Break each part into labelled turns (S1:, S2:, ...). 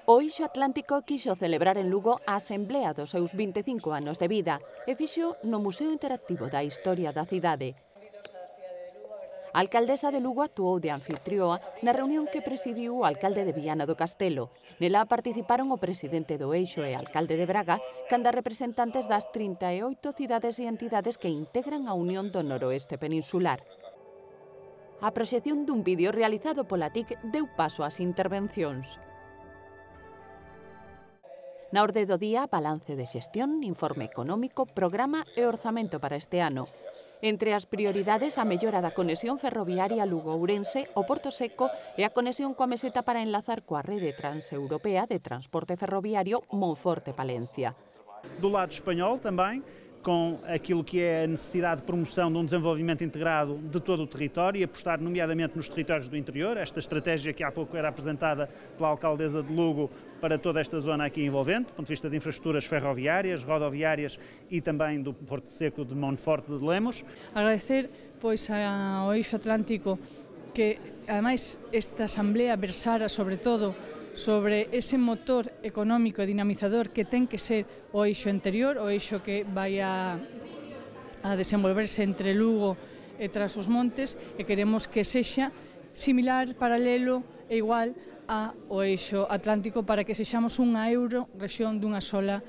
S1: O Eixo Atlántico quixo celebrar en Lugo a asemblea dos seus 25 anos de vida e fixo no Museo Interactivo da Historia da cidade. A alcaldesa de Lugo actuou de anfitrioa na reunión que presidiu o alcalde de Viana do Castelo. Nela participaron o presidente do Eixo e alcalde de Braga, canda representantes das 38 cidades e entidades que integran a Unión do Noroeste Peninsular. A proxección dun vídeo realizado pola TIC deu paso ás intervencións. Na orde do día, balance de xestión, informe económico, programa e orzamento para este ano. Entre as prioridades, a mellora da conexión ferroviaria Lugo-Ourense, o Porto Seco e a conexión coa meseta para enlazar coa rede transeuropea de transporte ferroviario Monforte-Palencia.
S2: Do lado espanhol também, com aquilo que é a necessidade de promoção de desenvolvimento integrado de todo o território e apostar nomeadamente nos territórios do interior, esta estratégia que há pouco era apresentada pela alcaldesa de Lugo para toda esta zona aqui envolvente, do ponto de vista de infraestruturas ferroviárias, rodoviárias e também do Porto Seco de Monforte de Lemos.
S3: Agradecer pois ao Eixo Atlántico que, ademais, esta asamblea versara sobre todo sobre ese motor económico e dinamizador que ten que ser o eixo anterior, o eixo que vai a desenvolverse entre Lugo e Trás-os-Montes, e queremos que sexa similar, paralelo e igual ao eixo Atlántico para que sexamos unha euro-rexión dunha sola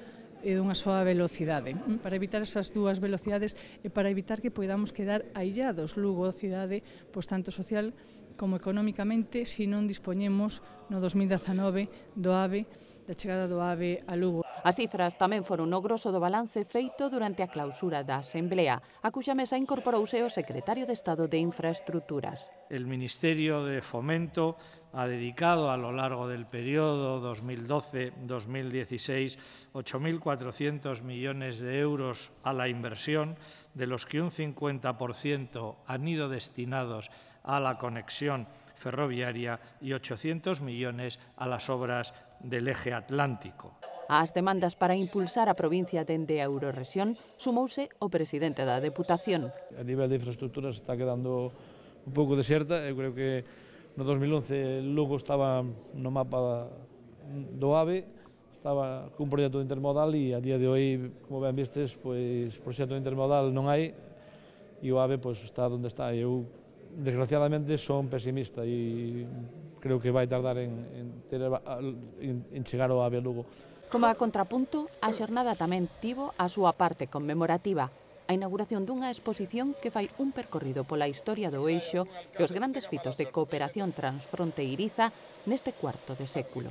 S3: velocidade, para evitar esas dúas velocidades e para evitar que podamos quedar aillados Lugo, cidade, pois tanto social como económicamente, se non dispoñemos no 2019 do AVE, da chegada do AVE a Lugo.
S1: As cifras tamén foron no grosso do balance feito durante a clausura da Asamblea, a cuxa mesa incorporouse o secretario de Estado de Infraestructuras.
S4: El Ministerio de Fomento ha dedicado a lo largo del periodo 2012-2016 8.400 millones de euros a la inversión, de los que un 50% han ido destinados a la conexión ferroviaria y 800 millones a las obras del eje atlántico.
S1: Ás demandas para impulsar a provincia dende a Eurorrexión sumouse o presidente da Deputación.
S5: A nivel de infraestructuras está quedando un pouco deserta. Eu creo que no 2011 Lugo estaba no mapa do AVE, estaba cun proxecto intermodal e a día de hoy, como ben vistes, pois proxecto intermodal non hai e o AVE pois está onde está. Eu, desgraciadamente, son pesimista e creo que vai tardar en chegar ao AVE Lugo.
S1: Como a contrapunto, a xornada tamén tivo a súa parte conmemorativa, a inauguración dunha exposición que fai un percorrido pola historia do eixo e os grandes fitos de cooperación transfronteiriza neste cuarto de século.